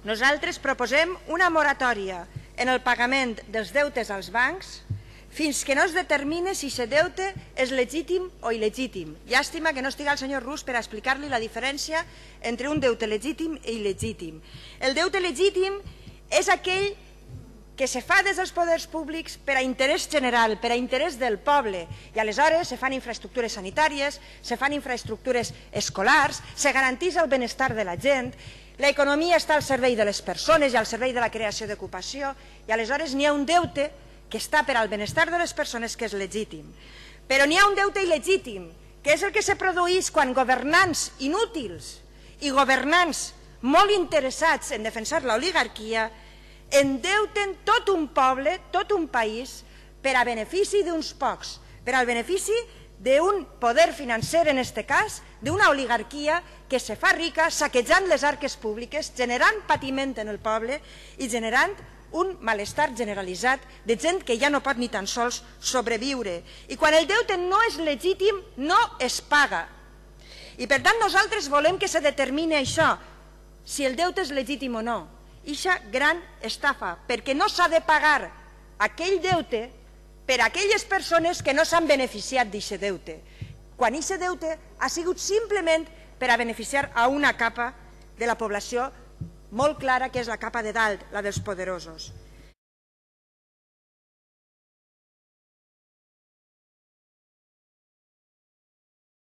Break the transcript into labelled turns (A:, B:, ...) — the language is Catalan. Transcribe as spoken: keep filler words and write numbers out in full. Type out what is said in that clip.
A: Nosaltres proposem una moratòria en el pagament dels deutes als bancs fins que no es determine si aquest deute és legítim o il·legítim. Llàstima que no estigui el senyor Rus per explicar-li la diferència entre un deute legítim i il·legítim. El deute legítim és aquell que se fa des dels poders públics per a interès general, per a interès del poble, i aleshores se fan infraestructures sanitàries, se fan infraestructures escolars, se garanteix el benestar de la gent, l'economia està al servei de les persones i al servei de la creació d'ocupació, i aleshores n'hi ha un deute que està per al benestar de les persones que és legítim. Però n'hi ha un deute il·legítim, que és el que se produeix quan governants inútils i governants molt interessats en defensar l'oligarquia endeuten tot un poble, tot un país, per a benefici d'uns pocs, per al benefici d'un poder financer, en aquest cas, d'una oligarquia que se fa rica saquejant les arques públiques, generant patiment en el poble i generant un malestar generalitzat de gent que ja no pot ni tan sols sobreviure. I quan el deute no és legítim, no es paga. I per tant nosaltres volem que se determini això, si el deute és legítim o no. Ixa gran estafa, perquè no s'ha de pagar aquell deute per a aquelles persones que no s'han beneficiat d'aquest deute, quan aquest deute ha sigut simplement per a beneficiar a una capa de la població molt clara, que és la capa de dalt, la dels poderosos.